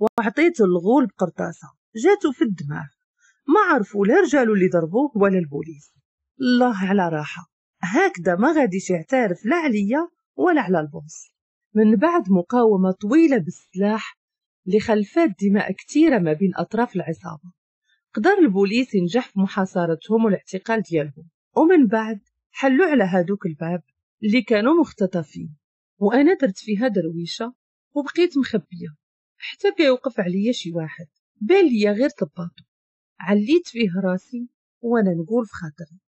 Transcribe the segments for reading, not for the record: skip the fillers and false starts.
وعطيته الغول بقرطاسه جاتو في الدماغ، ما عرفوا لا رجالو اللي ضربوه ولا البوليس. الله على راحة، هكذا ما غاديش يعترف لا عليا ولا على ال boss. من بعد مقاومة طويلة بالسلاح اللي خلفات دماء كثيرة ما بين اطراف العصابة، قدر البوليس ينجح في محاصرتهم والاعتقال ديالهم. ومن بعد حلوا على هادوك الباب اللي كانوا مختطفين، وانا درت فيها درويشه وبقيت مخبيه حتى كيوقف عليا شي واحد بان ليا غير صباطو. عليت فيه راسي وانا نقول في خاطري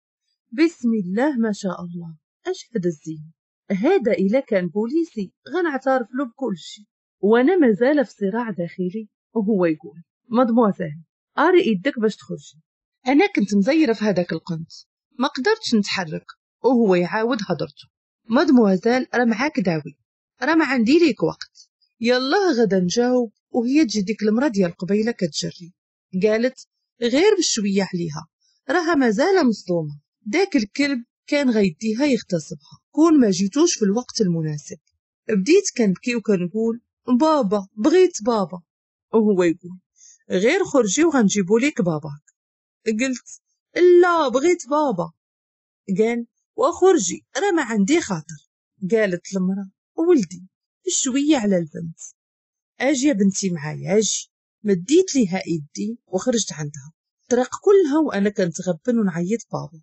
بسم الله ما شاء الله، اش هذا الزين هذا؟ الا كان بوليسي غنعترف له بكل شيء. وانا مازال في صراع داخلي وهو يقول مادموزيل اري ايدك باش تخرجي. انا كنت مزيره في هذاك القنت ما قدرتش نتحرك، وهو يعاود هضرته مادموزيل راه معاك داوي، راه ما عندي ليك وقت، يلا غدا نجاوب. وهي تجي ديك المرا ديال قبيلة كتجري، قالت غير بشوية عليها راها مازال مصدومة، داك الكلب كان غيديها يغتصبها كون ما جيتوش في الوقت المناسب. بديت كنبكي وكنقول بابا بغيت بابا، وهو يقول غير خرجي وغنجيبو ليك باباك. قلت لا بغيت بابا. قال وخرجي راه ما عندي خاطر. قالت المرأة ولدي شوية على البنت، اجي يا بنتي معايا اجي. مديت ليها ايدي وخرجت عندها. الطريق كلها وانا كنتغبن ونعيط بابا،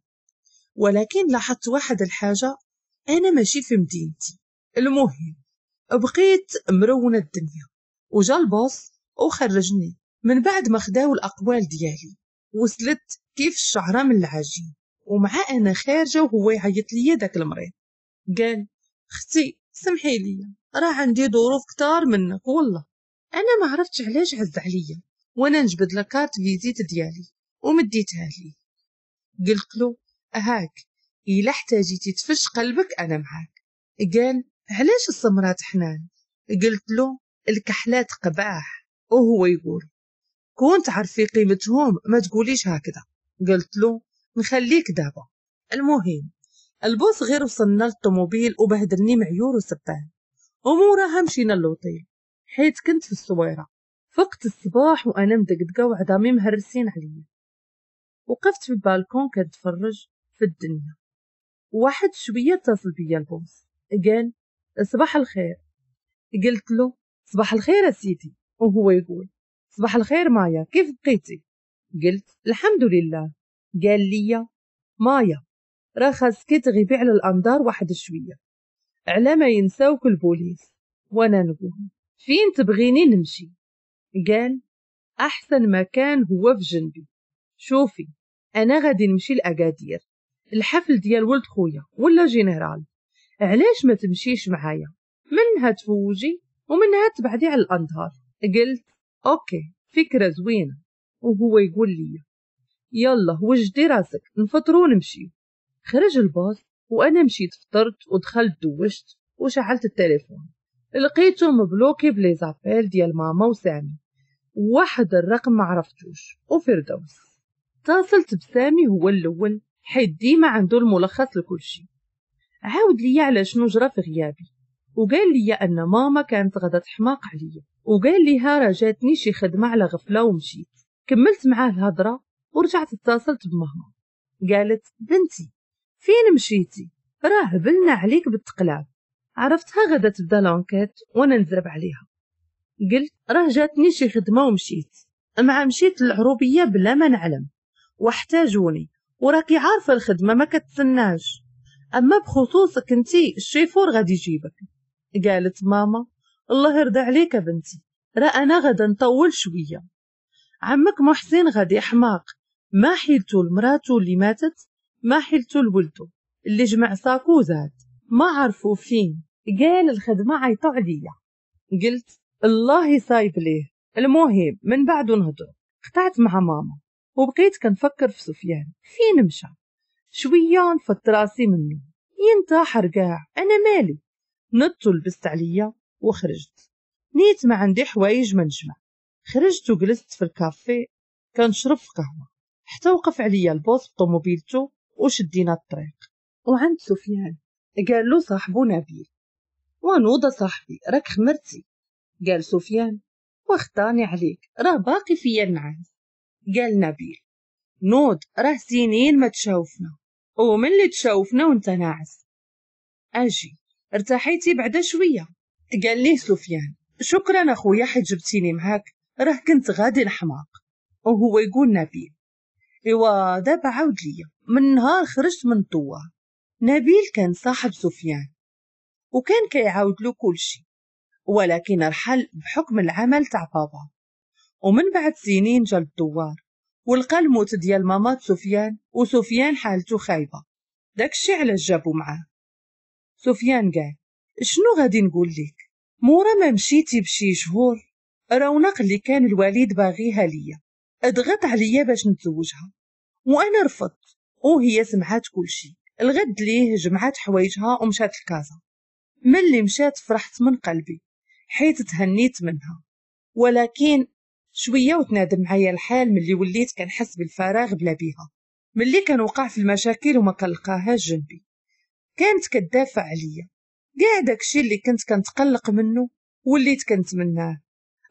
ولكن لاحظت واحد الحاجة، انا ماشي في مدينتي. المهم بقيت مرونة الدنيا، وجا ال boss وخرجني من بعد ما خداو الاقوال ديالي. وصلت كيف الشعرة من العجين، ومع انا خارجه وهو يعيط ليا داك المريض، قال اختي سمحي لي راه عندي ظروف كتار منك والله. انا ما عرفتش علاش عز عليا، وانا نجبد la carte visite ديالي ومديتها ليه. قلت له هاك الا احتاجيتي تفش قلبك انا معاك. قال علاش السمرات حنان؟ قلت له الكحلات قباح. وهو يقول كون تعرفي قيمتهم ما تقوليش هكذا. قلت له نخليك دابا. المهم ال boss غير وصلنا للطوموبيل وبهدلني معيور وسبان، وموراها مشينا للوطيل حيت كنت في الصويره. فقت الصباح وانا مدقدقه وعظامي مهرسين عليا. وقفت في البالكون كنتفرج في الدنيا. واحد شوية اتصل بيا ال boss، قال صباح الخير. قلت له صباح الخير سيدي. وهو يقول صباح الخير مايا كيف بقيتي؟ قلت الحمد لله. قال لي مايا راه خاصك تغيبي على الانظار واحد شوية على ما ينساوك البوليس. وانا نقول فين تبغيني نمشي؟ قال احسن مكان هو في جنبي. شوفي انا غادي نمشي لاكادير الحفل ديال ولد خويا ولا général، علاش ما تمشيش معايا؟ منها تفوجي ومنها تبعدي على الانظار. قلت OK فكرة زوينة. وهو يقول لي يلا وجدي راسك نفطرو ونمشيو. خرج ال boss وانا مشيت فطرت ودخلت دوشت وشعلت التليفون، لقيته مبلوكي ب les appels ديال ماما وسامي واحد الرقم ما عرفتوش وفردوس. اتصلت بسامي هو الاول حيت ديما عنده الملخص لكل شيء. عاود لي على شنو جرى في غيابي، وقال لي ان ماما كانت غدا تحماق عليا، وقال ليها راه جاتني شي خدمة على غفلة ومشيت. كملت معاه الهضرة ورجعت اتصلت بماما. قالت بنتي فين مشيتي؟ راه هبلنا عليك بالتقلاب. عرفتها غدا تبدا l'enquête وانا نزرب عليها. قلت راه جاتني شي خدمة ومشيت، مع مشيت للعروبيه بلا ما نعلم واحتاجوني، وراكي عارفه الخدمة ما كتسناش، اما بخصوصك انتي الشيفور غادي يجيبك. قالت ماما الله يرضى عليك بنتي، راه انا غدا نطول شوية، عمك محسن غادي حماق، ما حيلتو لمراتو اللي ماتت، ما حيلتو لولدو اللي جمع ساكو زاد، ما عرفو فين. قال الخدمة عيطو عليا. قلت الله يصايب ليه. المهم من بعد نهضر. قطعت مع ماما وبقيت كنفكر في سفيان فين مشى. شوية نفضت راسي منه ينتحر كاع، انا مالي. نضت ولبست عليا وخرجت، نيت ما عندي حوايج ما نجمع. خرجت وجلست في الكافيه كنشرب في قهوة حتى وقف عليا ال boss بطوموبيلتو وشدينا الطريق. وعند سفيان قال له صاحبو نبيل ونوض صاحبي راك خمرتي. قال سفيان واخطاني عليك، راه باقي فيا النعاس. قال نبيل نوض، راه سنين ما تشاوفنا، ومن اللي تشاوفنا وانت ناعس. اجي ارتاحيتي بعدا شوية؟ قال ليه سفيان شكرا اخويا حيت جبتيني معاك، راه كنت غادي نحماق. وهو يقول نبيل ايوا دابا عاود ليا من نهار خرجت من الدوار. نبيل كان صاحب سفيان وكان كيعاود له كلشي، ولكن رحل بحكم العمل تاع بابا. ومن بعد سنين جا للدوار ولقى الموت ديال مامات سفيان، وسفيان حالته خايبة، داكشي علاش جابو معاه. سفيان قال شنو غادي نقول لك، مورا ما مشيتي بشي شهور رونق اللي كان الوالد باغيها ليا اضغط عليا باش نتزوجها، وانا رفضت، وهي سمعات كلشي. الغد ليه جمعات حوايجها ومشات لكازا. ملي مشات فرحت من قلبي حيت تهنيت منها، ولكن شوية وتنادم معايا الحال ملي وليت كنحس بالفراغ بلا بيها، ملي كنوقع في المشاكل وما كنلقاهاش جنبي. كانت كتدافع عليا، كاع داكشي اللي كنت كنتقلق منه وليت كنتمناه.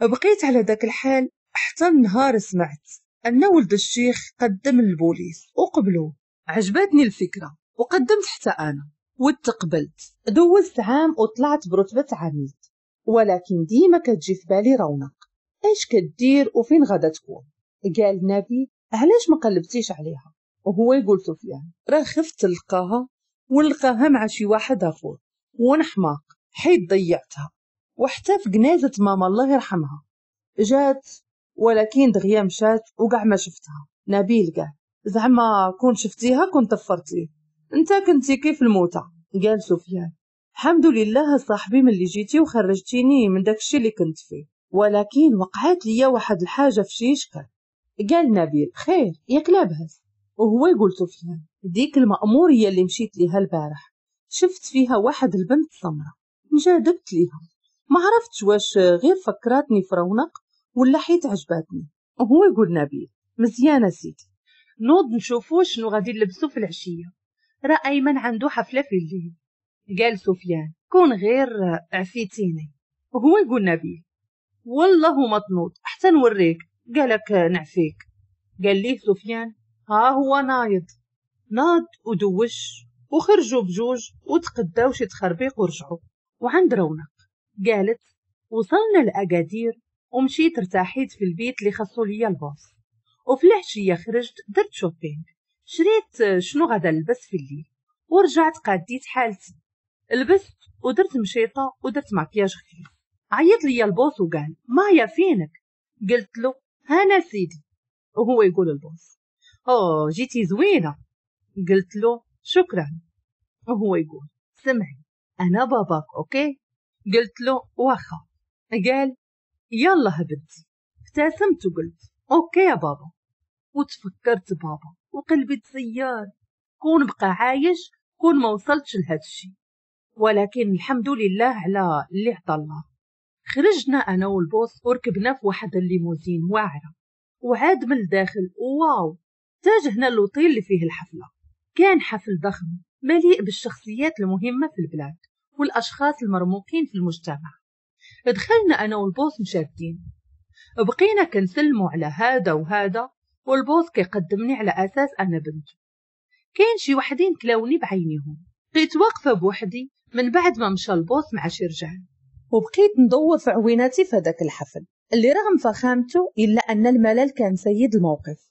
بقيت على داك الحال حتى النهار سمعت ان ولد الشيخ قدم للبوليس وقبلوه. عجبتني الفكرة وقدمت حتى انا وتقبلت. دوزت عام وطلعت برتبة عميد، ولكن ديما كتجي في بالي رونق، اش كدير وفين غادا تكون؟ قال نبي علاش ما قلبتيش عليها؟ وهو يقول سفيان راه خفت نلقاها ونلقاها مع شي واحد اخر ونحماق حيت ضيعتها. وحتى في جنازه ماما الله يرحمها جات، ولكن دغيا مشات وكاع ما شفتها. نبيل قال زعما كون شفتيها كون طفرتيه، انت كنتي كيف الموتى. قال سفيان الحمد لله صاحبي ملي جيتي وخرجتيني من داكشي اللي كنت فيه، ولكن وقعت ليا واحد الحاجة في شي شكل. قال نبيل خير ياك لاباس؟ وهو يقول سفيان ديك المأمورية اللي مشيت ليها البارح شفت فيها واحد البنت سمرة، انجذبت ليها، ما عرفتش واش غير فكراتني في رونق ولا حيت عجباتني. وهو يقول نبيل مزيانه سيدي، نوض نشوفو شنو غادي نلبسو في العشية، راه ايمن عنده حفلة في الليل. قال سفيان كون غير عفيتيني. وهو يقول نبيل والله ما تنوض حتى نوريك، قالك نعفيك. قال ليه سفيان ها هو نايض. ناض ودوش وخرجوا بجوج وتقداو شي تخربيق ورجعوا. وعند رونق قالت وصلنا لأكادير ومشيت ارتاحيت في البيت اللي خصو ليا ال boss، وفي العشية خرجت درت shopping، شريت شنو غادا نلبس في الليل، ورجعت قاديت حالتي، لبست ودرت مشيطه ودرت مكياج خفيف. عيط ليا ال boss وقال مايا فينك؟ قلت له هانا سيدي. وهو يقول ال boss اوه جيتي زوينة. قلت له شكرا. وهو يقول سمعي انا باباك okay؟ قلت له واخا. قال يلا بنتي. ابتسمت وقلت okay يا بابا. وتفكرت بابا وقلبي تسيار، كون بقى عايش كون ما وصلتش لهذا الشيء، ولكن الحمد لله على اللي عطى الله. خرجنا انا وال boss وركبنا في واحد الليموزين واعرة، وعاد من الداخل wow. اتجهنا للوطيل اللي فيه الحفلة. كان حفل ضخم مليء بالشخصيات المهمة في البلاد والاشخاص المرموقين في المجتمع. دخلنا انا وال boss مشادين، بقينا كنسلموا على هذا وهذا، وال boss كيقدمني على اساس انا بنته. كاين شي وحدين كلاوني بعينيهم. بقيت واقفة بوحدي من بعد ما مشى ال boss مع شي رجال، وبقيت ندور في عويناتي في هذاك الحفل اللي رغم فخامته الا ان الملل كان سيد الموقف.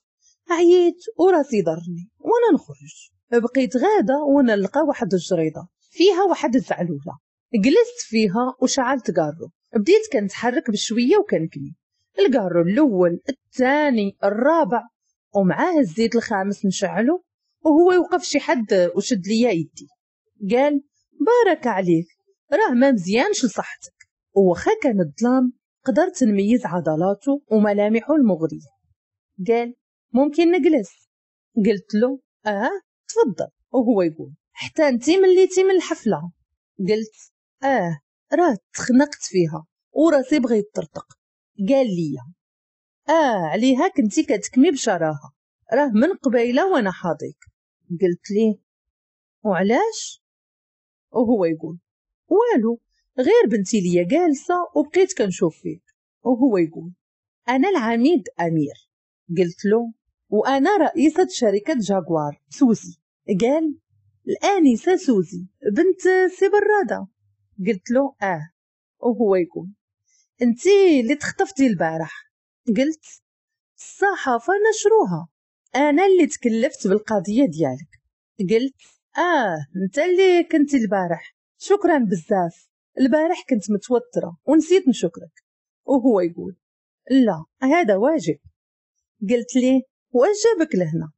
عييت وراسي ضرني وانا نخرج. بقيت غاده وانا نلقى واحد الجريدة فيها واحد الزعلوله، جلست فيها وشعلت كارو. بديت كنتحرك بشوية وكنكمي الكارو الاول الثاني الرابع، ومعاه الزيت الخامس نشعله، وهو يوقف شي حد وشد ليا يدي. قال بارك عليك راه ما مزيانش لصحتك. وخا كان الظلام قدرت نميز عضلاته وملامحه المغرية. قال ممكن نجلس؟ قلت له اه تفضل. وهو يقول حتى انتي مليتي من الحفلة؟ قلت اه راه تخنقت فيها وراسي بغى يطرطق. قال لي عليها كنتي كتكمي بشراهه، راه من قبيلة وانا حاضيك. قلت ليه وعلاش؟ وهو يقول والو، غير بنتي ليا جالسة وبقيت كنشوف فيك. وهو يقول انا العميد امير. قلت له وانا رئيسة شركة جاكوار سوزي. قال الانسة سوزي بنت سي برادة. قلت له اه. وهو يقول انتي اللي تخطفتي البارح. قلت الصحافة نشروها، انا اللي تكلفت بالقضية ديالك. قلت انت اللي كنتي البارح، شكرا بزاف، البارح كنت متوترة ونسيت نشكرك. وهو يقول لا هذا واجب. قلت ليه واش جابك لهنا؟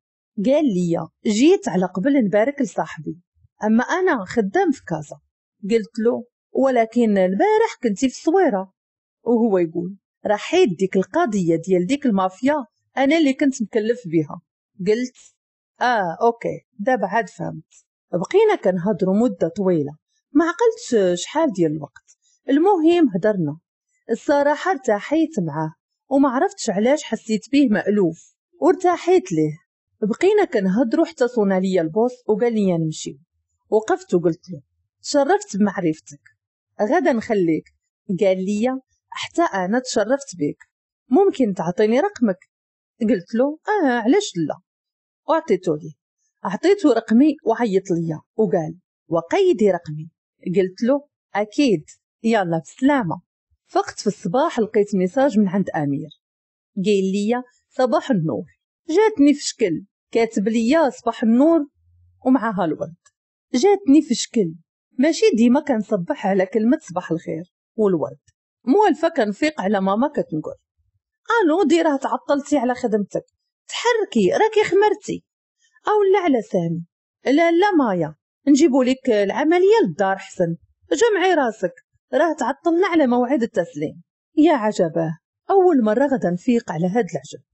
قال لي جيت على قبل نبارك لصاحبي، اما انا خدام في كازا. قلت له ولكن البارح كنتي في الصويره. وهو يقول راه حيد ديك القضية ديال ديك المافيا انا اللي كنت مكلف بها. قلت okay دابا عاد فهمت. بقينا كنهضروا مده طويلة، ما عقلتش شحال ديال الوقت. المهم هضرنا، الصراحة ارتاحيت معاه وما عرفتش علاش حسيت به مألوف وارتاحيت ليه. بقينا كنهضروا حتى صونا ليا ال boss وقال لي نمشي. وقفت وقلت له تشرفت بمعرفتك، غدا نخليك. قال لي حتى انا تشرفت بك، ممكن تعطيني رقمك؟ قلت له علاش لا. وعطيته لي، عطيته رقمي وعيط ليا وقال وقيدي رقمي. قلت له اكيد، يلا بسلامه. فقت في الصباح لقيت message من عند امير، قال لي صباح النور. جاتني في شكل، كاتب لي صباح النور ومعها الورد. جاتني في شكل، ماشي ديما كنصبح على كلمة صباح الخير والورد، موالفه كنفيق على ماما كتنقول الو دي راه تعطلتي على خدمتك، تحركي راكي خمرتي، او لا على سامي، لا لا مايا نجيبوا لك العملية للدار حسن، جمعي راسك راه تعطلنا على موعد التسليم. يا عجباه، اول مرة غدا نفيق على هاد العجب،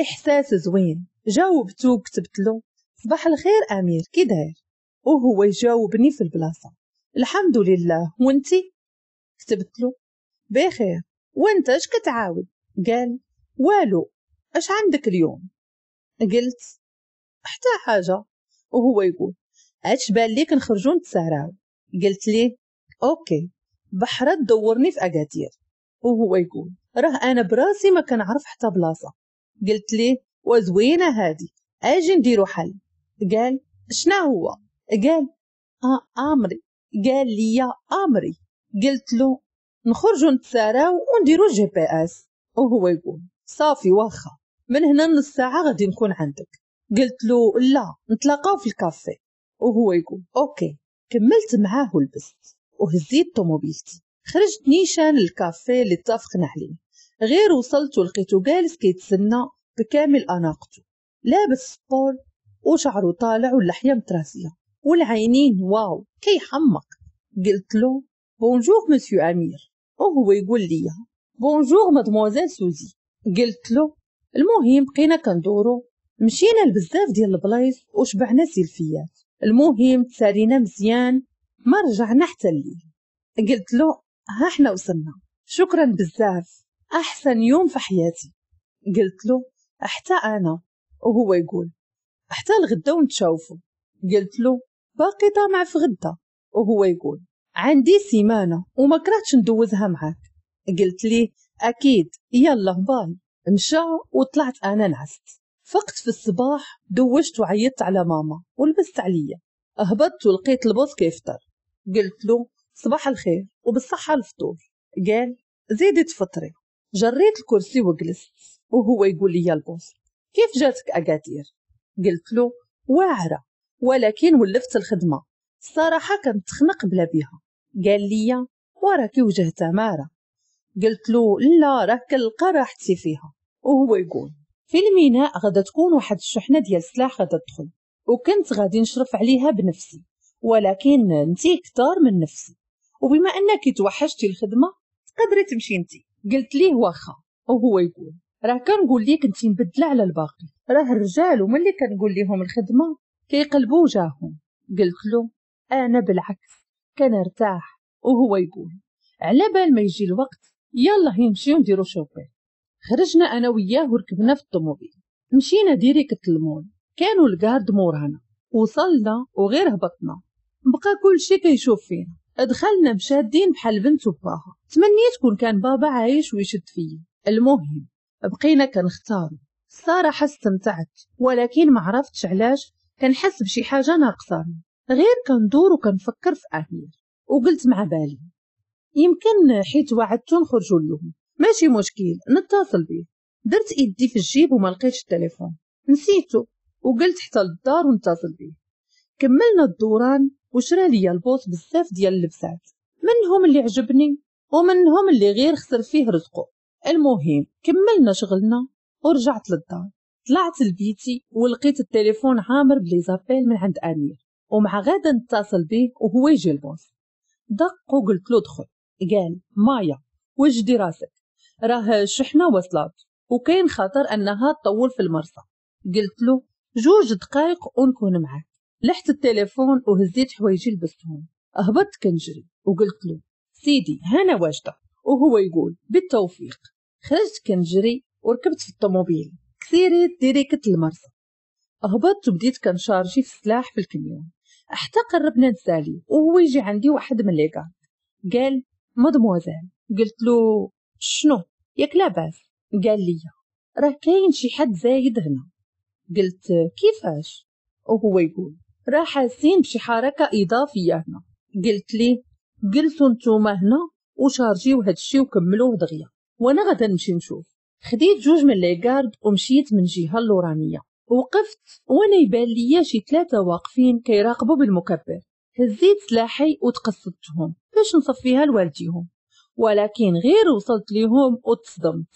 احساس زوين. جاوبته وكتبت له صباح الخير امير كي داير؟ وهو يجاوبني في البلاصة الحمد لله وانتي؟ كتبت له بخير وانت اش كتعاود؟ قال والو، اش عندك اليوم؟ قلت حتى حاجة. وهو يقول اش بان ليك نخرجوا نتساراو؟ قلت ليه okay بحرة تدورني في اكادير. وهو يقول راه انا براسي ما كنعرف حتى بلاصة. قلت ليه وزوينه هادي، اجي نديرو حل. قال شنا هو؟ قال امري. قال لي امري. قلت له نخرجوا نتساراو ونديرو GPS. وهو يقول صافي واخا، من هنا نص ساعة غادي نكون عندك. قلت له لا نتلاقاو في الكافيه. وهو يقول okay. كملت معاه ولبست وهزيت طوموبيلتي، خرجت نيشان للكافيه اللي اتفقنا عليه. غير وصلت ولقيته جالس كيتسنى بكامل اناقته، لابس sport وشعره طالع واللحية متراسيه والعينين واو كيحمق. قلت له bonjour monsieur امير. وهو يقول لي bonjour mademoiselle سوزي. قلت له المهم بقينا كندورو، مشينا لبزاف ديال البلايص وشبعنا سيلفيات. المهم تسالينا مزيان، ما رجعنا حتى الليل. قلت له ها حنا وصلنا، شكرا بزاف، احسن يوم في حياتي. قلت له حتى انا. وهو يقول حتى الغدا ونتشوفوا. قلت له باقي طامع في غدا. وهو يقول عندي سيمانه وما كرهتش ندوزها معاك. قلت ليه اكيد، يلا باي. مشى وطلعت انا نعست. فقت في الصباح دوشت وعيطت على ماما ولبست عليا، هبطت ولقيت ال boss كيفطر. قلت له صباح الخير وبالصحه الفطور. قال زيدي تفطري. جريت الكرسي وجلست. وهو يقول لي يا ال boss كيف جاتك اكادير؟ قلت له واعرة ولكن ولفت الخدمة، الصراحة كنتخنق بلا بيها. قال لي وراكي وجه تماره. قلت له لا راه كنلقى راحتي فيها. وهو يقول في الميناء غادا تكون واحد الشحنة ديال السلاح غادا تدخل، وكنت غادي نشرف عليها بنفسي، ولكن انتي كتار من نفسي، وبما انك توحشتي الخدمة تقدري تمشي انتي. قلت ليه واخا. وهو يقول راه كنقول ليك انتي مبدله على الباقي، راه الرجال وملي كنقول ليهم الخدمة كيقلبوا وجاههم. قلت له انا بالعكس كنرتاح. وهو يقول على بال ما يجي الوقت يلا نمشيو نديرو shopping. خرجنا انا وياه وركبنا في الطوموبيل، مشينا direct للمول، كانوا ال garde مورانا. وصلنا وغير هبطنا بقى كل شي كيشوف فينا. دخلنا مشادين بحال بنت وباها. تمنيت كون كان بابا عايش ويشد فيا. المهم بقينا كنختارو. الصراحة استمتعت، ولكن ما عرفتش علاش كنحس بشي حاجة ناقصاني. غير كندور وكنفكر في امير، وقلت مع بالي يمكن حيت وعدتو نخرجوا اليوم، ماشي مشكل نتصل بيه. درت ايدي في الجيب وما لقيتش التليفون، نسيته، وقلت حتى للدار ونتصل بيه. كملنا الدوران وشرا ليا ال boss بزاف ديال اللبسات، منهم اللي عجبني ومنهم اللي غير خسر فيه رزقه. المهم كملنا شغلنا ورجعت للدار. طلعت لبيتي ولقيت التليفون عامر ب les appels من عند امير، ومع غدا نتصل به وهو يجي ال boss. دق وقلت له دخل. قال مايا وجدي راسك، راه الشحنة وصلت وكاين خطر انها تطول في المرسى. قلت له 2 دقائق ونكون معاك. لحت التليفون وهزيت حوايجي لبستهم، هبطت كنجري وقلت له سيدي هانا واجدة، وهو يقول بالتوفيق. خرجت كنجري وركبت في الطوموبيل كسيريت directe المرسى. هبطت وبديت كنشارجي في السلاح في الكميون حتى قربنا نسالي، وهو يجي عندي واحد من les gardes. قال مادموزيل. قلت له شنو ياك لاباس؟ قال لي راه كاين شي حد زايد هنا. قلت كيفاش؟ وهو يقول راه حاسين بشي حركة اضافية هنا. قلت ليه جلسوا نتوما هنا وشارجيو هادشي وكملوه دغيا وانا غادا نمشي نشوف. خديت 2 من les gardes ومشيت من جهة اللورانيه، وقفت وانا يبان ليا شي 3 واقفين كيراقبوا بالمكبر. هزيت سلاحي وتقصدتهم باش نصفيها لوالديهم، ولكن غير وصلت ليهم وتصدمت.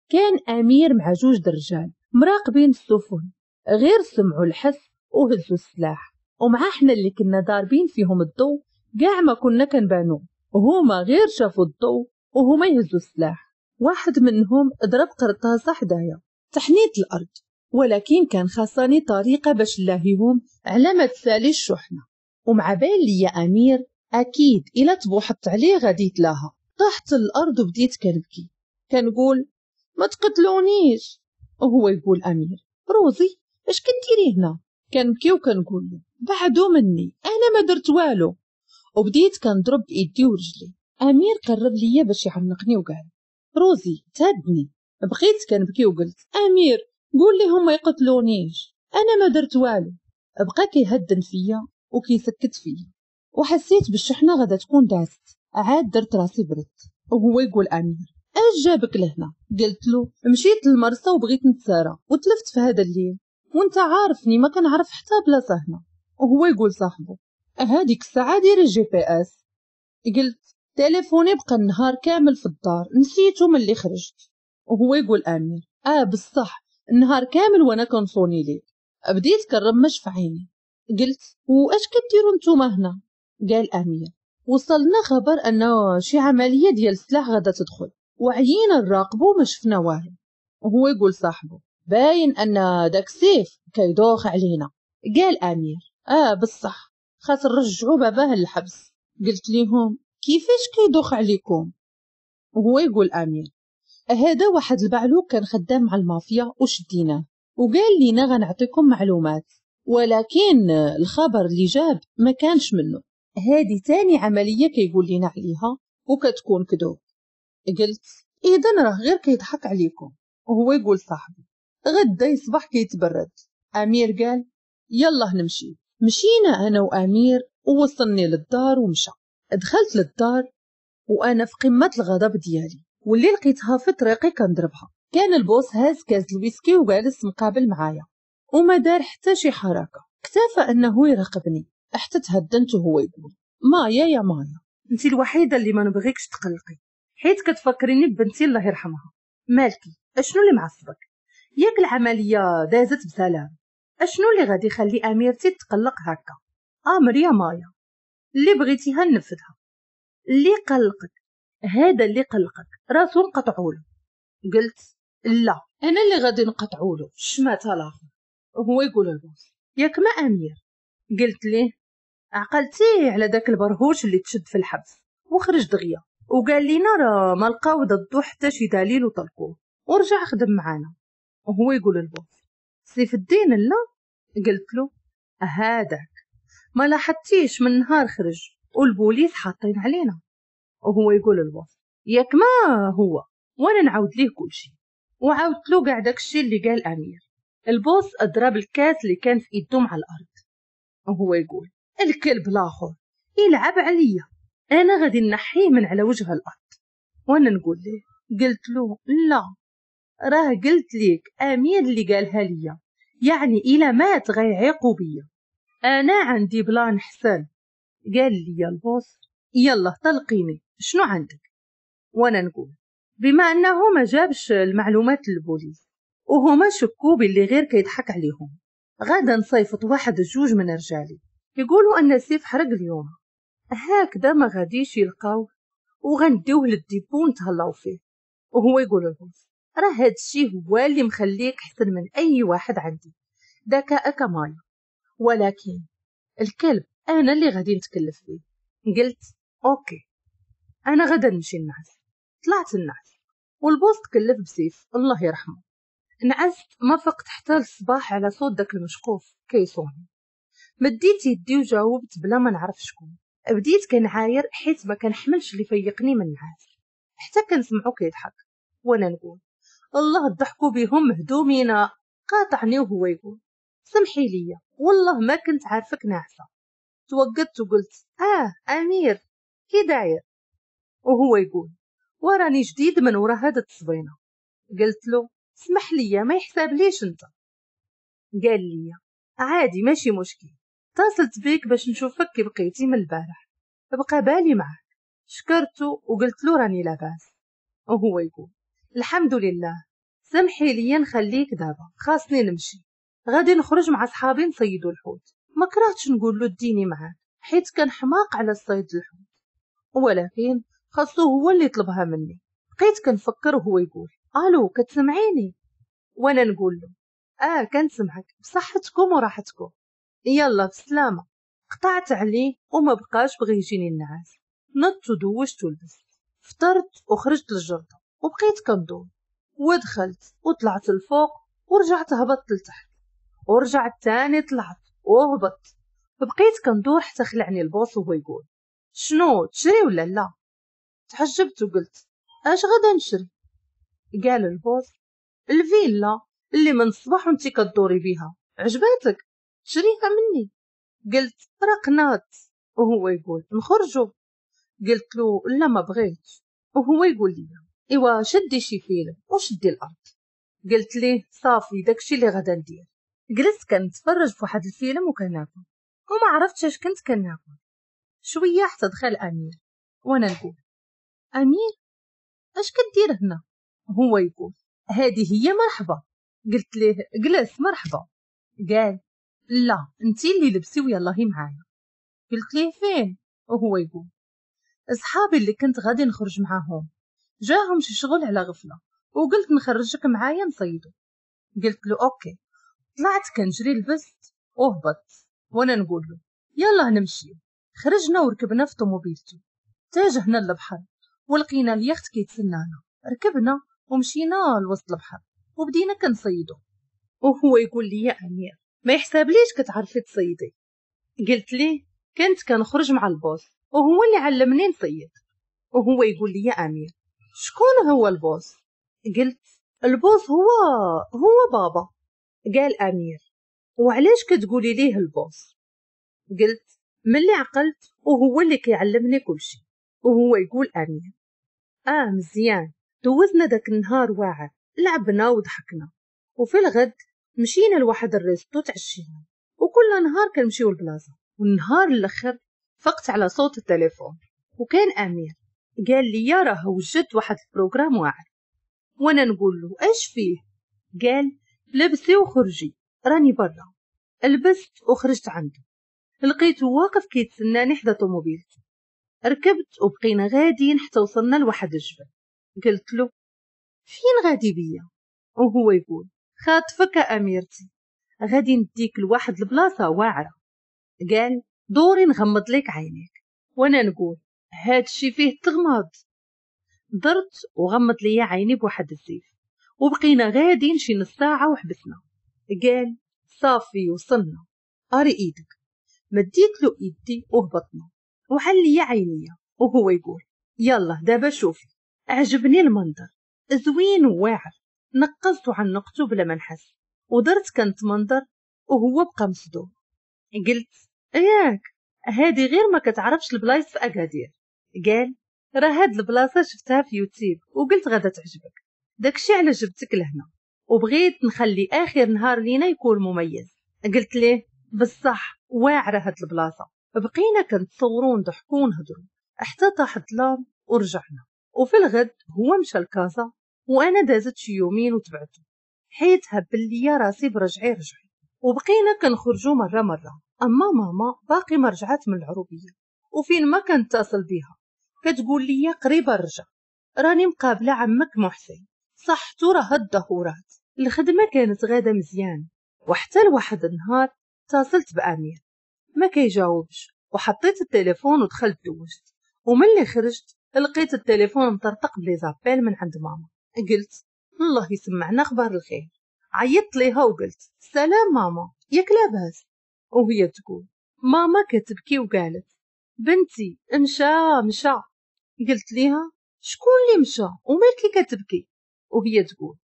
كان امير مع 2 درجال مراقبين السفن، غير سمعوا الحس وهزوا السلاح، ومع حنا اللي كنا ضاربين فيهم الضو كاع ما كنا كنبانو، هما غير شافوا الضو وهما يهزوا السلاح. واحد منهم ضرب قرطاسه حدايا، تحنيت الارض، ولكن كان خاصني طريقه باش نلاهيهم على ما تسالي الشحنة. ومع بال لي امير اكيد الا تبوحت عليه غادي يتلاها. طحت الارض وبديت كنبكي كنقول ما تقتلونيش، وهو يقول امير روزي اش كديري هنا؟ كنبكي وكنقول له بعدو مني انا ما درت والو، وبديت كنضرب بايدي ورجلي. امير قرب ليا باش يعنقني وقال روزي تهدني. بقيت كنبكي وقلت امير قول لهم ما يقتلونيش انا ما درت والو. بقى كيهدن فيا وكيسكت فيا، وحسيت بالشحنه غادا تكون داست. عاد درت راسي برد، وهو يقول امير اش جابك لهنا؟ قلت له مشيت للمرسى وبغيت نتسارى وتلفت في هذا الليل، وانت عارفني ما كنعرف حتى بلاصة هنا. وهو يقول صاحبه هذيك الساعة دير ال GPS. قلت تليفوني بقى النهار كامل في الدار نسيته ملي خرجت. وهو يقول امير بصح النهار كامل وانا كنصوني ليك. بديت كنرمش في عيني. قلت واش كديروا نتوما هنا؟ قال امير وصلنا خبر انه شي عملية ديال السلاح غادا تدخل وعيينا نراقبو ما شفنا والو. وهو يقول صاحبه باين ان داك السيف كيدوخ علينا. قال امير بصح خاص نرجعو باباه للحبس. قلت ليهم كيفاش كيدوخ عليكم؟ وهو يقول امير هذا واحد البعلوك كان خدام مع المافيا وشديناه وقال لينا غنعطيكم معلومات، ولكن الخبر اللي جاب ما كانش منه. هذه تاني عملية كيقول لنا عليها وكتكون كذوب. قلت اذا راه غير كيضحك عليكم. وهو يقول صاحبي غدا يصبح كيتبرد. امير قال يلا نمشي. مشينا انا وامير ووصلني للدار ومشى. دخلت للدار وانا في قمة الغضب ديالي، واللي لقيتها في طريقي كنضربها. كان ال boss هاز كاس الويسكي وجالس مقابل معايا وما دار حتى شي حركة، اكتفى انه يراقبني حتى تهدنت. وهو يقول مايا يا مايا انت الوحيدة اللي ما نبغيكش تقلقي، حيت كتفكريني ببنتي الله يرحمها. مالكي اشنو اللي معصبك؟ ياك العملية دازت بسلام، اشنو اللي غادي يخلي اميرتي تقلق هكا؟ امر يا مايا اللي بغيتيها ننفذها. اللي قلقك هذا اللي قلقك راسو نقطعولو. قلت لا انا اللي غادي نقطعولو شماتها الاخر. وهو يقول ال boss ياك ما امير؟ قلت ليه عقلتي على داك البرهوش اللي تشد في الحبس وخرج دغيا وقال لينا راه ما لقاو ضدو حتى شي دليل وطلقوه ورجع خدم معانا. وهو يقول ال boss سيف الدين لا؟ قلت له هذاك ما لاحظتيش من نهار خرج والبوليس حاطين علينا. وهو يقول ال boss ياك ما هو، وانا نعاود ليه كلشي، وعاودت له كاع داكشي اللي قال امير. ال boss اضرب الكاس اللي كان في ايدو مع الارض، وهو يقول الكلب الاخر يلعب عليا، انا غادي نحيه من على وجه الارض. وانا نقول ليه، قلت له لا راه قلت ليك امير اللي قالها ليا، يعني الى مات غيعيقوا بيا، انا عندي plan حسن. قال لي ال boss يلا طلقيني شنو عندك؟ وانا نقول بما انه ما جابش المعلومات للبوليس وهما شكوا باللي غير كيضحك عليهم، غادا نصيفط واحد جوج من رجالي يقولوا ان سيف حرق اليوم، هكذا ما غاديش يلقاوه وغنديوه لل dépôt نتهلاو فيه. وهو يقول لل boss راه هادشي هو اللي مخليك احسن من اي واحد عندي، ذكاءك مايا، ولكن الكلب انا اللي غادي نتكلف به. قلت OK انا غدا نمشي نعس. طلعت النعس وال boss تكلف بسيف الله يرحمه. نعست ما فقت حتى الصباح على صوت داك المشقوف كيصوني. مديت يدي وجاوبت بلا ما نعرف شكون. بديت كنعاير حيت ما كنحملش اللي فيقني من النعاس، حتى كنسمعو كيضحك وانا نقول الله ضحكوا بهم مهدومينا. قاطعني وهو يقول سمحي لي والله ما كنت عارفك ناعسه. توقدت وقلت امير كي داير؟ وهو يقول وراني جديد من ورا هاد التصبينه. قلت له اسمح لي ما يحساب ليش انت. قال لي عادي ماشي مشكل، اتصلت بيك باش نشوفك كي بقيتي من البارح، بقى بالي معك. شكرته وقلت له راني لاباس. وهو يقول الحمد لله، سمحي لي نخليك دابا خاصني نمشي، غادي نخرج مع صحابي نصيدوا الحوت. ما كرهتش نقول له ديني معاك حيت كان حماق على الصيد الحوت، ولكن خاصو هو اللي طلبها مني. بقيت كنفكر وهو يقول الو كتسمعيني؟ وانا نقول له كنسمعك، بصحتكم وراحتكم، يلا بسلامه. قطعت عليه وما بقاش بغي يجيني النعاس. نضت ودوشت ولبست، فطرت وخرجت للجردة وبقيت كندور، ودخلت وطلعت الفوق ورجعت هبطت لتحت، ورجعت تاني طلعت وهبطت. بقيت كندور حتى خلعني ال boss وهو يقول شنو تشري ولا لا؟ تحجبت وقلت اش غادا نشري؟ قال ال boss الفيلا اللي من الصباح وانتي كدوري بيها عجباتك شريها مني. قلت راه قنات. وهو يقول نخرجوا. قلت له لا ما بغيتش. وهو يقول لي ايوا شدي شي فيلم وشدي الارض. قلت ليه صافي داكشي اللي غادا ندير. جلست كنتفرج في واحد الفيلم وكناكل وما عرفتش اش كنت كناكل. شوية حتى دخل امير وانا نقول امير اش كدير هنا؟ هو يقول هذه هي مرحبا. قلت ليه جلس مرحبا. قال لا انتي اللي لبسي ويلا هي معايا. قلت ليه فين؟ وهو يقول اصحابي اللي كنت غادي نخرج معاهم جاهم شي شغل على غفلة وقلت نخرجك معايا نصيدو. قلت له OK. طلعت كنجري لبست وهبطت وانا نقول له يلا نمشي. خرجنا وركبنا في طوموبيلتو، تاجهنا للبحر ولقينا اليخت كيتسنانا. ركبنا ومشينا لوسط البحر وبدينا كنصيدو. وهو يقول لي يا امير ما يحسابليش كتعرفي تصيدي. قلت ليه كنت كنخرج مع ال boss وهو اللي علمني نصيد. وهو يقول لي يا امير شكون هو ال boss؟ قلت ال boss هو بابا. قال امير وعلاش كتقولي ليه ال boss؟ قلت ملي عقلت وهو اللي كيعلمني كلشي. وهو يقول امير مزيان. دوزنا داك النهار واعر، لعبنا وضحكنا، وفي الغد مشينا لواحد ال resto تعشينا، وكل نهار كنمشيو لبلاصه. والنهار الاخر فقت على صوت التليفون وكان امير. قال لي راه وجدت واحد ال programme واعر. وانا نقول له اش فيه؟ قال لبسي وخرجي راني برا. لبست وخرجت عنده، لقيته واقف كيتسناني حدا طوموبيلته. ركبت وبقينا غاديين حتى وصلنا لواحد الجبل. قلت له فين غادي بيا؟ وهو يقول خاطفك اميرتي، غادي نديك لواحد البلاصة واعرة. قال دوري نغمض لك عينيك. وانا نقول هادشي فيه تغمض. درت وغمض لي عيني بواحد الزيف، وبقينا غاديين شي نص ساعة وحبسنا. قال صافي وصلنا، اري ايدك. مديت له ايدي وهبطنا. وحل لي عينيا وهو يقول يلا دابا شوفي. عجبني المنظر زوين وواعر، نقزت وعنقته بلا ما نحس ودرت كنتمنظر وهو بقى مصدوم. قلت ياك هادي غير ما كتعرفش البلايص في اكادير. قال راه هاد البلاصة شفتها في يوتيوب وقلت غادا تعجبك، داكشي على جبتك لهنا وبغيت نخلي اخر نهار لينا يكون مميز. قلت ليه بصح واعرة هاد البلاصة. بقينا كنتصوروا ونضحكوا ونهضروا حتى طاح الظلام ورجعنا. وفي الغد هو مشى لكازا وانا دازت شي يومين وتبعته، حيت هبل ليا راسي برجعي رجعي، وبقينا كنخرجوا مرة مرة. اما ماما باقي ما رجعت من العروبية، وفين ما كنتصل بها كتقول لي قريبه نرجع، راني مقابله عمك محسن صحته راه الدهورات. الخدمة كانت غاده مزيان، وحتى لواحد النهار اتصلت بامير ما كيجاوبش، وحطيت التليفون ودخلت دوشت، وملي خرجت لقيت التليفون مطرطق ب les appels من عند ماما. قلت الله يسمعنا اخبار الخير. عيطت ليها وقلت سلام ماما ياك لاباس؟ وهي تقول ماما كتبكي وقالت بنتي مشى مشى. قلت ليها شكون اللي مشى ومالكي كتبكي؟ وهي تقول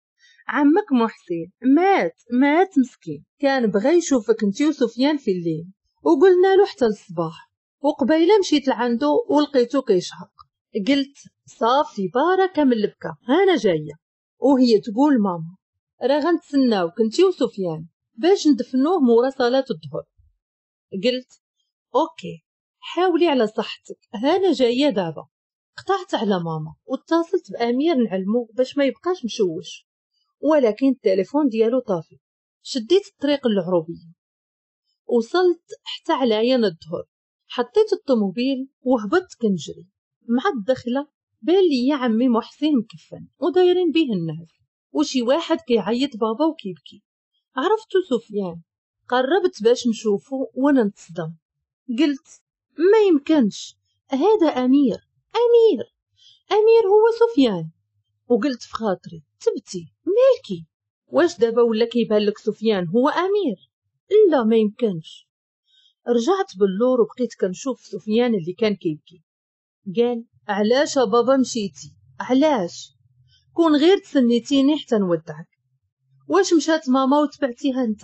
عمك محسن مات مات مسكين، كان بغى يشوفك انتي وسفيان في الليل وقلنا له حتى الصباح، وقبيله مشيت لعندو ولقيتو كيشهق. قلت صافي بركة من البكا انا جاية. وهي تقول ماما راه غنتسناوك انتي وسفيان باش ندفنوه مورا صلاة الظهر. قلت OK حاولي على صحتك انا جاية دابا. قطعت على ماما واتصلت بامير نعلمو باش ما يبقاش مشوش، ولكن التليفون ديالو طافي. شديت الطريق للعروبيه، وصلت حتى علاين الظهر، حطيت الطوموبيل وهبطت كنجري. مع الدخلة بان لي عمي محسن مكفن ودايرين به الناس، وشي واحد كيعيط بابا وكيبكي. عرفتو سفيان، قربت باش نشوفو وانا نتصدم. قلت ما يمكنش هذا امير، امير امير هو سفيان. وقلت في خاطري تبتي مالكي، واش دابا ولا كيبان لك سفيان هو امير؟ لا ما يمكنش. رجعت باللور وبقيت كنشوف سفيان اللي كان كيبكي. قال علاش بابا مشيتي؟ علاش؟ كون غير تسنيتيني حتى نودعك. واش مشات ماما وتبعتيها انت؟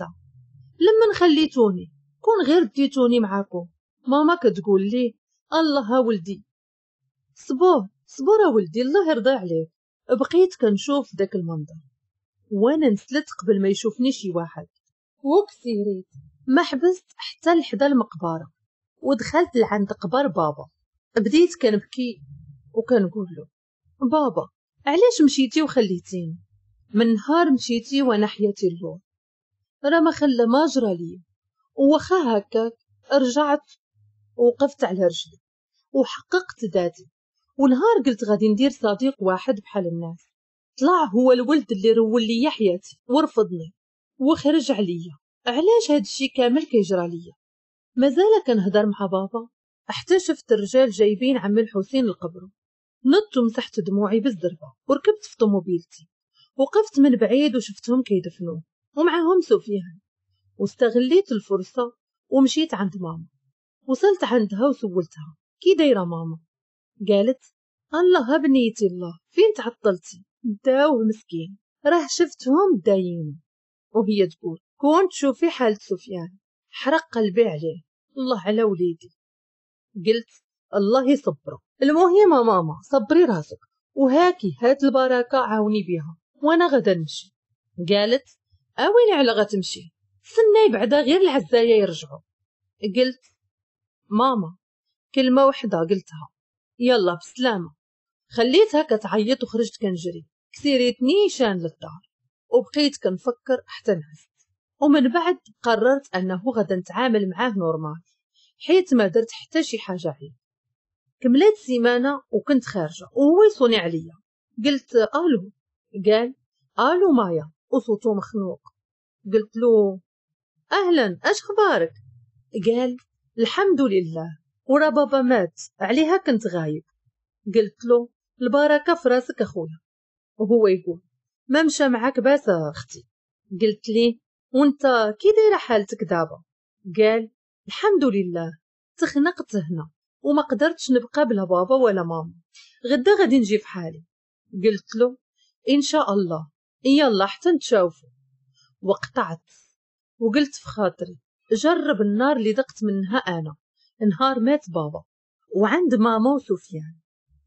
لما خليتوني كون غير ديتوني معاكم. ماما كتقول لي الله ولدي صبر صبر ولدي الله يرضى عليك. بقيت كنشوف داك المنظر وانا نسلت قبل ما يشوفني شي واحد، وكسيريت ما حبست حتى لحدا المقبرة ودخلت لعند قبر بابا. بديت كنبكي وكنقول له بابا علاش مشيتي وخليتيني؟ من نهار مشيتي وانا حياتي اللور، راه ما خلى ما جرى لي. وخا هكاك رجعت وقفت على رجلي وحققت ذاتي. ونهار قلت غادي ندير صديق واحد بحال الناس، طلع هو الولد اللي رول لي حياتي ورفضني وخرج عليا. علاش هاد الشي كامل كيجرى ليا؟ مازال كنهضر مع بابا حتى شفت الرجال جايبين عمي الحسين لقبره. نضت ومسحت دموعي بالزربه وركبت في طوموبيلتي، وقفت من بعيد وشفتهم كيدفنوه ومعاهم سفيان، واستغليت الفرصة ومشيت عند ماما. وصلت عندها وسولتها كي دايرة ماما؟ قالت الله بنيتي الله فين تعطلتي؟ داوه مسكين راه شفتهم دايين. وهي تقول كون تشوفي حالة سفيان حرق قلبي عليه، الله على وليدي. قلت الله يصبره. المهم ماما صبري راسك وهاكي هات البركة عاوني بها وانا غدا نمشي. قالت اويلي على غتمشي، استناي بعدا غير العزايه يرجعوا. قلت ماما كلمة وحده قلتها يلا بسلامه. خليتها كتعيط وخرجت كنجري، كسيريت نيشان للدار وبقيت كنفكر حتى نعست. ومن بعد قررت انه غدا نتعامل معاه normal حيت ما درت حتى شي حاجة عليه. كملت سيمانه وكنت خارجه وهو يصوني عليا. قلت الو، قال الو مايا وصوته مخنوق. قلت له اهلا اش اخبارك؟ قال الحمد لله ورا بابا مات عليها كنت غايب. قلت له البركة في راسك اخويا. وهو يقول ما مشى معاك باس اختي. قلت ليه وانت كي دايرة حالتك دابا؟ قال الحمد لله تخنقت هنا وما قدرتش نبقى بلا بابا ولا ماما، غدا غادي نجي في حالي. قلت له ان شاء الله، يلا حتى نتشاوفوا. وقطعت وقلت في خاطري جرب النار اللي دقت منها انا نهار مات بابا. وعند ماما وسفيان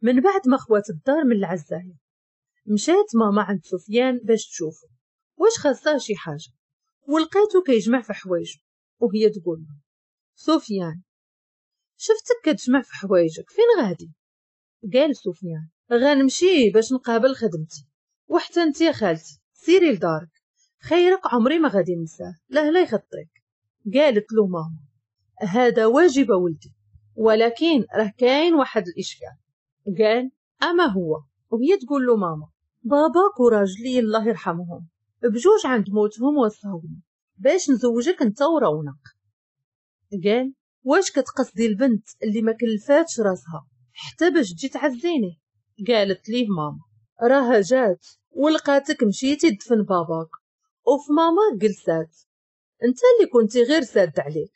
من بعد ما خوات الدار من العزايه، مشات ماما عند سفيان باش تشوفه واش خاصاه شي حاجة، ولقيته كيجمع في حوايجه، وهي تقول له سفيان شفتك كتجمع في حوايجك، فين غادي؟ قال سفيان غنمشي باش نقابل خدمتي، وحتى انت يا خالتي سيري لدارك، خيرك عمري ما غادي ننساه، لا لا يخطيك. قالت له ماما هذا واجب ولدي، ولكن راه كاين واحد الاشكال. قال اما هو؟ وهي تقول له ماما باباك وراجلي الله يرحمهم بجوج عند موتهم وصاوني باش نزوجك انت ورونق. قال واش كتقصدي البنت اللي ما كلفاتش راسها حتى باش تجي تعزيني؟ قالت ليه ماما راها جات ولقاتك مشيتي تدفن باباك، وفي ماما جلسات انت اللي كنتي غير ساد عليك.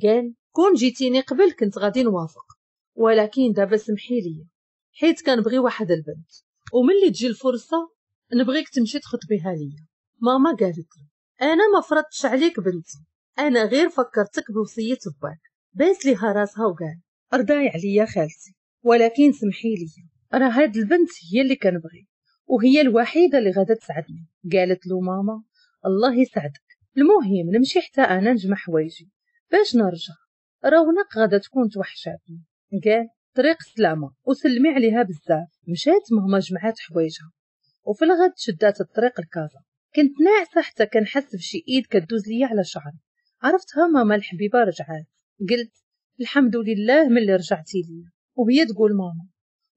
قال كون جيتيني قبل كنت غادي نوافق، ولكن دابا سمحي لي حيت كنبغي واحد البنت، وملي تجي الفرصة نبغيك تمشي تخطبيها ليا. ماما قالت له انا ما فرضتش عليك بنتي، انا غير فكرتك بوصية باك. باس ليها راسها وقال ارضاي عليا خالتي، ولكن سمحي لي راه هاد البنت هي اللي كنبغي وهي الوحيدة اللي غادا تسعدني. قالت له ماما الله يسعدك، المهم نمشي حتى انا نجمع حوايجي باش نرجع، رونق غادا تكون توحشاتني. قال طريق سلامه وسلمي عليها بزاف. مشات ماما جمعات حوايجها وفي الغد شدات الطريق لكازا. كنت ناعسه حتى كنحس بشي ايد كدوز ليا على شعري، عرفتها ماما الحبيبة رجعات. قلت الحمد لله ملي رجعتي ليا. وهي تقول ماما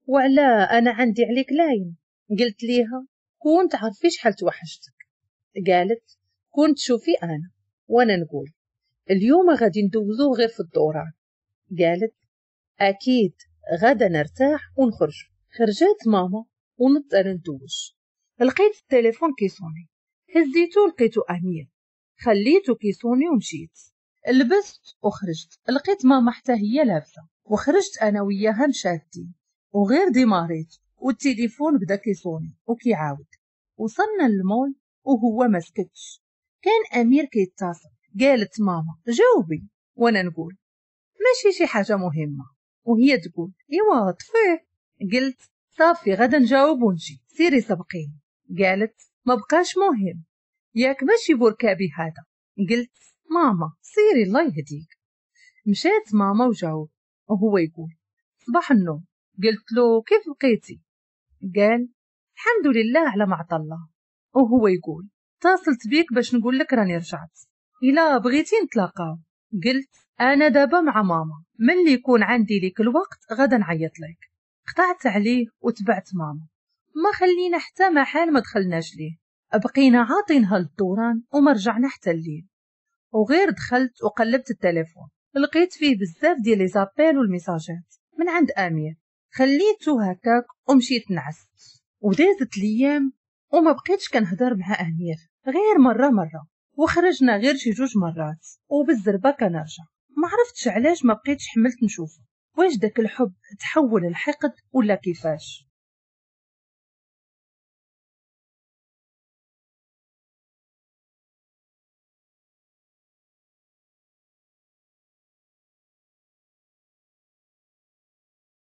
وعلا انا عندي عليك لاين. قلت ليها كون تعرفي شحال توحشتك. قالت كون تشوفي انا. وانا نقول اليوم غادي ندوزوه غير في الدوران. قالت اكيد غدا نرتاح ونخرج. خرجت ماما ونضت انا ندوش، لقيت التليفون كيصوني، هزيتو لقيتو امير، خليتو كيصوني ومشيت لبست وخرجت. لقيت ماما حتى هي لابسه، وخرجت انا وياها مشادين، وغير ديماريت والتليفون بدا كيصوني وكيعاود. وصلنا للمول وهو ما سكتش، كان امير كيتصل. قالت ماما جاوبي، وانا نقول ماشي شي حاجة مهمة، وهي تقول ايوا طفيه. قلت صافي غدا نجاوب ونجي، سيري سبقيني. قالت ما بقاش مهم، ياك ماشي بركابي هذا. قلت ماما سيري الله يهديك. مشات ماما وجاوب وهو يقول صباح النور. قلت له كيف بقيتي؟ قال الحمد لله على ما عطا الله. وهو يقول اتصلت بيك باش نقول لك راني رجعت، الا بغيتي نتلاقاو. قلت انا دابا مع ماما، ملي يكون عندي ليك الوقت غدا نعيط لك. قطعت عليه وتبعت ماما، ما خلينا حتى محل ما دخلناش ليه، بقينا عاطينها للدوران وما رجعنا حتى الليل. وغير دخلت وقلبت التليفون لقيت فيه بزاف ديال les appels والميساجات من عند امير، خليته هكاك ومشيت نعست. ودازت الايام وما بقيتش كنهضر مع امير غير مرة مرة، وخرجنا غير شي جوج مرات وبالزربه كنرجع. ما عرفتش علاش ما بقيتش حملت نشوفه، واش داك الحب تحول الحقد ولا كيفاش.